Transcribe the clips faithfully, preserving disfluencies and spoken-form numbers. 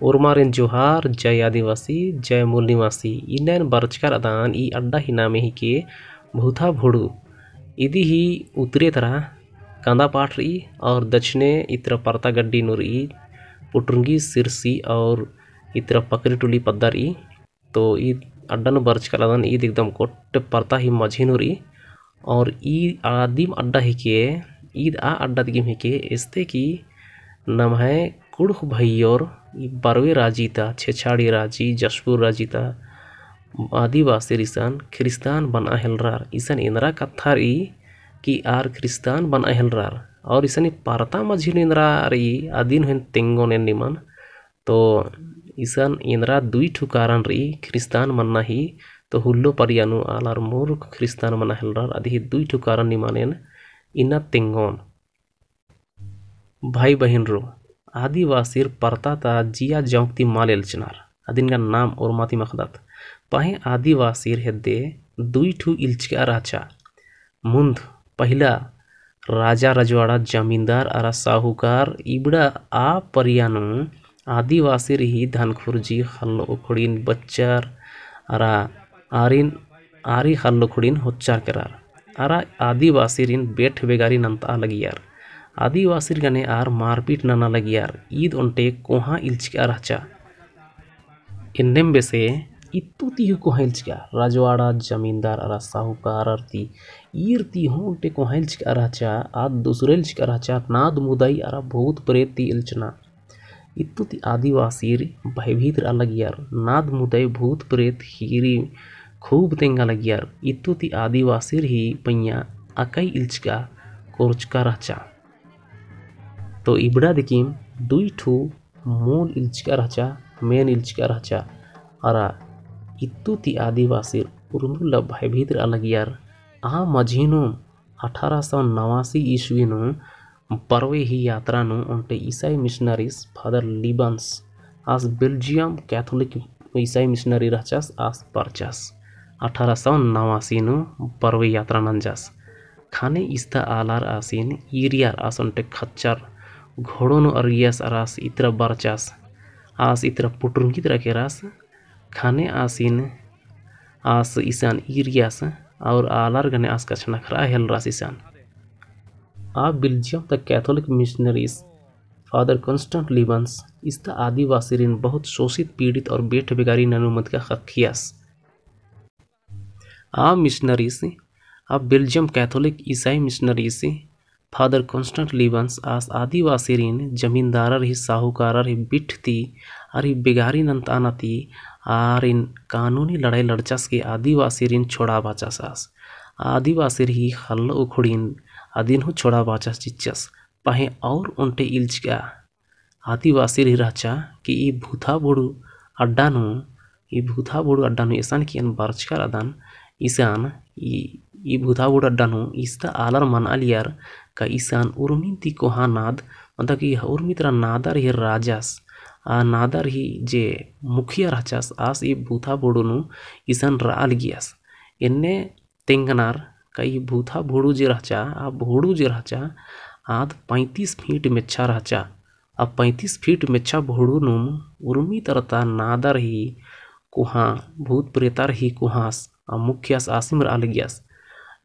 ओर्मारिन जोहार, जय आदिवासी, जय मूल निवासी। इन्नन बरचका रअदन ई अड्डा ही नामे हिके भूथा भोड़ू। इदी ही उत्तरे तरा कांदा पाठ रई और दक्षिणे इतरा परता गड्डी नू रई, पुटरुंगी, सिरसी और इतरा पकरी टुली पद्दा रई। तो ईद अड्डा नू बरचका रअदन, ईद एकदम गोट्टे परता ही मझी नू रई। और ई आदिम अड्डा हिके, ईद आ अड्डा दिगिम हिके, एस्ते कि नम्है कुँड़ुख़ भइयोर ई बरवे राजी ता, छेछाड़ी राजी, जशपुर राजी ता आदिवासिर इसन ख्रिस्तान बनआ हेलरर। इसन एन्दरा कत्था रई कि आर ख्रिस्तान बनआ हेलरर। और इसन ई परता मझी नू एन्दरा रई, अदिन हूँ एन तेंगोन एन निमन। तो इसन एन्दरा दुई ठु कारण रई ख्रिस्तान मन्ना ही। तो हुल्लो परिया नू आलर मुरुख ख्रिस्तान मना हेलरर, अदी ही दुई ठु कारण निमन एन इन्ना तेंगोन। भाई बहिनरो, आदिवासिर परता ता जिया जौंक ती मल एल्चनर, अदिन गा नाम ओर्मा ती मखदत। पहें आदिवासिर हेद्दे दुई ठु इल्चका रहचा। मुन्ध पहिला राजा रजवाड़ा जमींदार अरा साहूकार। इबड़ा आ परिया नू आदिवासिर ही धनखुर्जी, ख़ल्ल उखड़िन, बच्चर अरा आरिन, आरी ख़ल्ल उखड़िन होच्चर केरर। अरा आदिवासिरिन बेठ बेगारी नन्तआ लगियर। आदिवासिर गने आर मारपीट नना लगियर। ईद ओन्टे कोहाँ इल्चका रहचा। एन्नेम बेसे इत्तु ती हूँ कोहाँ इल्चका, रजवाड़ा जमींदार अरा साहूकारर ती, ईर ती हूँ ओन्टे कोहाँ इल्चका रहचा, आद दुसरे इल्चका रहचा, नाद मुदई अरा भूत प्रेत ती इल्चना। इत्तु ती आदिवासिर भयभीत रआ लगियर, नाद मुदई भूत प्रेत हीरी खूब तेंगा लगियर। इत्तु ती आदिवासिर ही पइयाँ अकई इल्चका कोरचका रहचा। तो इबड़ा दिकिम दुई ठू मूल इल्चका रहचा, main इल्चका रहचा। अरा इत्तु ती आदिवासिर उर्मिला भयभीत रआ लगियर। आ मझी नू अठारह सौ नवासी ईस्वी नू बरवे ही यात्रा नू ओन्टे ईसाई missionaries Father Libens आस Belgium Catholic ईसाई missionary रहचस, आस बरचस। अठारह सौ नवासी नू बरवे यात्रा नंजस। ख़ने इस्ता आलर आसिन ईरियर। आस ओन्टे खच्चर घोड़ो नू अरगियस अरा आस इतरा बरचस। आस इतरा पुटुरंगी तरा केरस। ख़ने आसिन आस इसन ईरियस और आलर गने आस कछनखरआ हेलरस इसन। आ Belgium ता Catholic missionaries Father Constant Libens इस्ता आदिवासिरिन बहुत शोषित, पीड़ित और बेठ बेगारी ननू मदका ख़क्खियस। आ missionaries, आ Belgium Catholic ईसाई missionaries Father Constant Libens आस आदिवासिरिन जमींदारर ही, साहूकारर ही बिठ ती आर ही बेगारी नन्तआना ती आरिन कानूनी लड़ाई लड़चस कि आदिवासिरिन छोड़ा बाचस आस। आदिवासिर ही ख़ल्ल उखड़िन अदिन हूँ छोड़ा बाचस चिच्चस। पहें और ओन्टे इल्चका आदिवासिर ही रहचा कि ई भूथा भोड़ू अड्डा नू, ई भूथा भोड़ू अड्डा नू एसन कि एन बरचका रअदन, इसन ई, ई भूथा भोड़ू अड्डा नू इस्ता आलर मनआ लियर का इसन उर्मिन ती कोहाँ नाद, मतलब कि उर्मी तरा नादर ही राजस, आ नादर ही जे मुखिया रहचस, आस ई भूथा भोड़ू नू इसन रआ लगियस। एन्ने तेंगनर का ई भूथा भोड़ू जे रहचा, आ भोड़ू जे रहचा, आद पैंतीस फीट मेच्छा रहचा। आ पैंतीस फीट मेच्छा भोड़ू नुम उर्मी तरता नादर ही कोहाँ, भूत प्रेतर ही कोहाँस, आ मुखियास आसिम रआ लगियस।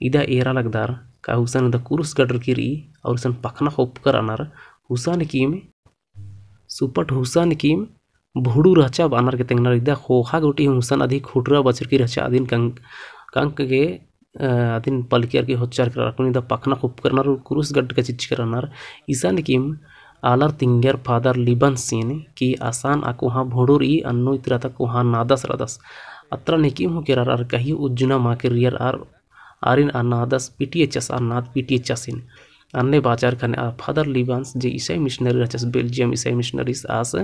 इदा एरा लगदर का हुसन इदा कुरुस गडरकी रई, और हुसन पखना खोपकर अनर, हुसन किम सुपट हुसन किम भोड़ू रहचा बअनर के तेंगनर। इदा ख़ोख़ा गूटी हुसन अदी खुटरा बछरकी रहचा, अदिन कंक, कंक गे, अ, अदिन पलकियर की होच्चर केरर। अक्कुन इदा पखना खोपकर अनर कुरुस गड्डका चिच्चकर अनर। इसन किम आलर तिंगियर फादर लिबन्सिन कि असन आ कोहाँ भोड़ू रई, अन्नु इतरा ता कोहाँ नादस रअदस। अतरा निकिम हूँ केरर अरा कहियो उज्जना मा केरियर अरा आरिन आ नादस पीटियचस, आ नाद पीटियचसिन। अन्ने बाचर ख़ने आ फादर लिबन्स जे ईसाई मिशनरी रहचस, बेल्जियम ईसाई मिशनरीस आस,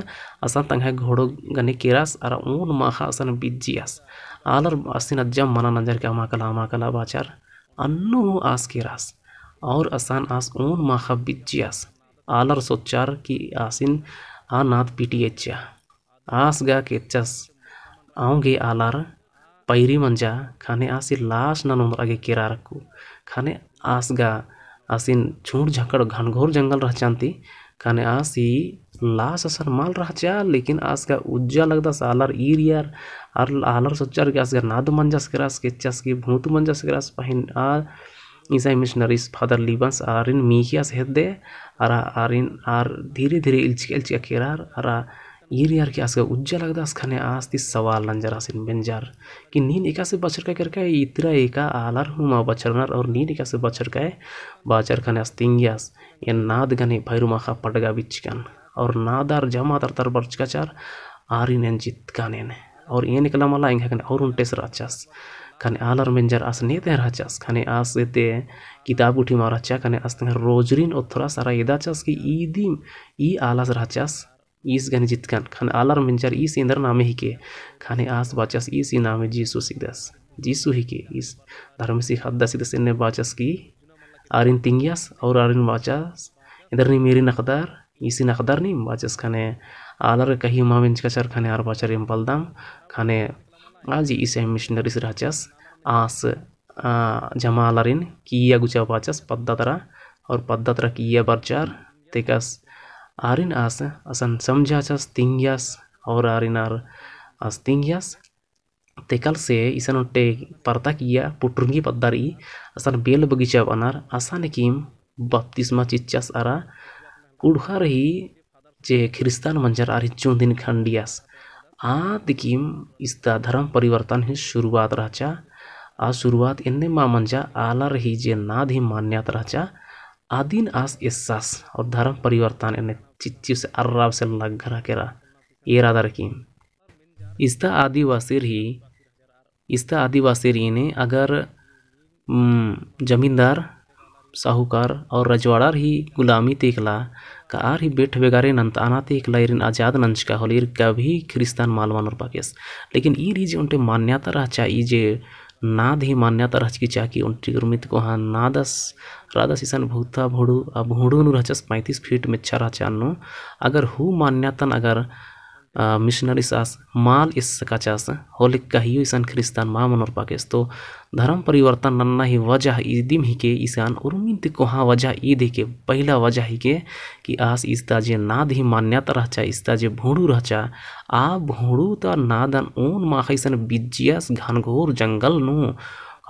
असन तंग्है घोड़ो गने केरस अरा ओन माख़ा असन बिज्जियस। आलर आसिन अज्जम मना नंजर के अमा कला, अमा कला बाचर। अन्नु हूँ आस केरस। और असन आस ओन माख़ा बिज्जियस। आलर सोचर कि आसिन आ नाद पीटियचा। आस गा केचस, औंगे आलर पैरी मंजा, ख़ने आसी लास ननोन अगे केरा रखु। ख़ने आस गा आसिन झूठ झकड़ घनघोर जंगल रहचन्ती, ख़ने आसी लास असन मल रहचा, लेकिन आस गा उज्जा लगदस आलर ईरियर, आर आलर सोचर कि आस गा नाद मंजस केरस, केचस कि भूत मंजस केरस, पहें आ ईसाई मिशनरीस फादर लिबन्स आरिन मीखियस हेद्दे, अरा आरिन आर धीरे धीरे इल्चिका इल्चिका केरर, अरा ईरियर कि आस गा उज्जा लगदस, ख़ने आस ती सवाल नंजर आसिन बेंजर कि नीन एकासे बछरका केरका, इतरा एका आलर हूँ मा बछरनर, और नीन एकासे बछरका बाचर। ख़ने आस तिंगियस, एन नाद गने भैरु माख़ा पडगा बिच्चकन, और नादर जमा तरतर बरचका चार, आरिन एन जितकन एन, और एन एकला मला एंग्है गने और ओन्टेस रहचस। ख़ने आलर बेंजर आस नेते रहचस, ख़ने आस एते किताब गुट्ठी मा रहचा, ख़ने आस तेंगा रोजरिन ओथ्रस अरा एदाचस कि ईदिम ई आलस रहचस, ईस गने जितकन। ख़ने आलर बेंजर ईस एन्दर नामे हिके, ख़ने आस बाचस ईस ई नामे जीसुस हिकदस, जीसु हिके, ईस धर्मेसी ख़द्दस हिकदस एन्ने बाचस कि आरिन तिंगियस, और आरिन बाचस एन्दर नीम ईरिन अख़दर, ईसिन अख़दर नीम बाचस। ख़ने आलर कही मा बेंजका चार, ख़ने आर बाचर एम बलदम। ख़ने आ जे ईसाई मिशनरीस रहचस, आस आ, जमा आलारिन किइय्या गुचा बाचस पद्दा तरा, और पद्दा तरा किइय्या बरचर, तेकस आरिन आस असन समझाचस, तिंगियस, और आरिन आर आस तिंगियस, तेकल से इसन ओन्टे परता किइय्या पुटुरंगी पद्दा रई, असन बेल बगीचा बअनर, असन किम बपतिस्मा चिच्चस अरा कुँड़ुख़र ही जे ख्रिस्तान मंजर आर ही चुन्दिन खंडियस। आद किम इसता धर्म परिवर्तन ही शुरुआत रहचा। आ शुरुआत एन्ने मा मंजा, आलर ही जे नाद ही मान्यता रहचा, अदिन आस एस्सस और धर्म परिवर्तन एन्ने चिच्चिस अर्राबसे लग्गरा केरा एरादर किम। इसता आदिवासिर ही इसता आदिवासिर एन्ने अगर, उम, जमींदार, साहूकार और रजवाड़ार ही गुलामी ती एकला का आर ही बेठ बेगारे नन्तअना ती एकला ईरिन आजाद नंजका होले ईर कभी ख्रिस्तान मल मनोर पाकेस। लेकिन ईर ही जे ओन्टे मान्यता रहचा, ई जे नाद ही मान्यता रहचकी चाकी ओन्टे उर्मी ती कोहाँ नादस, रअदस इसन भूता भोड़ू, आ भोड़ू नू रहचस पैंतीस फीट मेच्छा रहचा अन्नु। अगर हू मान्यतन अगर आ, मिशनरीस आस मल एस्सकाचस, होले कहियो इसन ख्रिस्तान मा मनोर पाकेस। तो धर्म परिवर्तन नन्ना ही वजह इदिम हिके, इसन उर्मिन ती कोहाँ वजह ईद हिके, पहिला वजह हिके कि आस इसता जे नाद ही मान्यता रहचा, इसता जे भोड़ू रहचा, आ भोड़ू ता नादन ओन माख़ा इसन बिज्जियस घनघोर जंगल नू,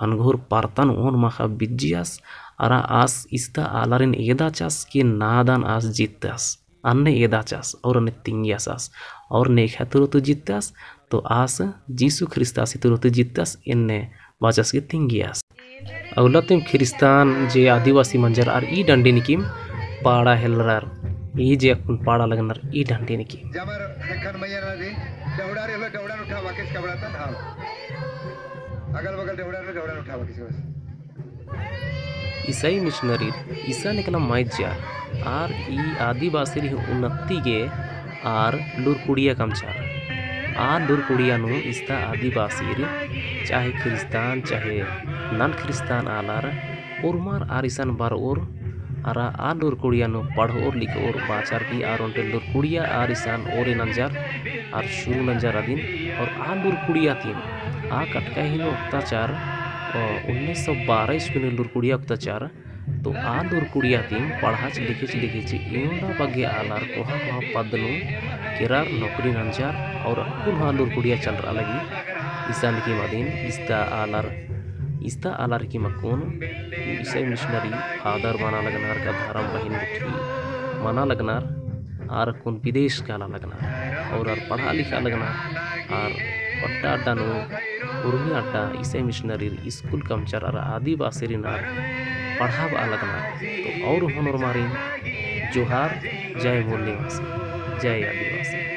घनघोर परतन ओन माख़ा बिज्जियस, अरा आस इसता आलारिन एदाचस कि नादन आस जित्तस। अन्ने एदाचस और अन्ने तिंगियस आस और नेखा तुरत जित्तस, तो आस जीसु ख्रिस्तासी तुरत जित्तस, एन्ने बाचस कि तिंगियस। अउला तिम ख्रिस्तान जे आदिवासी मंजर आर ई डंडी निकिम पाड़ा हेलरर, ई जे अक्कुन पाड़ा लगनर ई डंडी निकिम। जमर हेखन मैया ना दे, डहुड़ा रे लो, डहुड़ा उठा वाकिस कबड़ा तन, हाँ। अगल बगल डहुड़ा रे, डहुड़ा उठा वाकिस बस। ईसाई मिशनरीर इसन एकला मइय्याँ आर ई आदिवासिर ही उन्नति गे आर लूरकुड़िया कमचर। आ लूरकुड़िया नू इसता आदिवासिर, चाहे ख्रिस्तान, चाहे नन ख्रिस्तान आलर, उर्मर आर इसन बरओर, अरा आ लूरकुड़िया नू पढ़ओर लिखओर बाचर की आर ओन्टे लूरकुड़िया आर इसन ओरे नंजर, आर शुरू नंजर अदिन, और आ लूरकुड़िया तिम, आ कटका ही नू उक्ताचर, अ, उन्नीस सौ बारह ईस्वी नू लूरकुड़िया उक्ताचर, तो आ लूरकुड़िया तिम पढ़ाच लिखिच लिखिच एवंदा बग्गे आलर कोहाँ कोहाँ पद नू केरर नौकरी नंजर, और अक्कुन हूँ आ लूरकुड़िया चलरआ लगी। इसन किम अदिन इसता आलर, इसता आलर किम अक्कुन ईसाई मिशनरी फादर मना लगनर का धरम बहिन गुट्ठी मना लगनर, आर अक्कुन विदेश काला लगनर, और आर पढ़ा लिखा लगनर, आर अड्डा अड्डा नू उर्मी अड्डा ईसाई मिशनरीर स्कूल कमचर अरा आदिवासिरिन आर पढ़ाबआ लगनर। तो और होनोर मारिन जोहार, जय मूल निवासी, जय आदिवासी।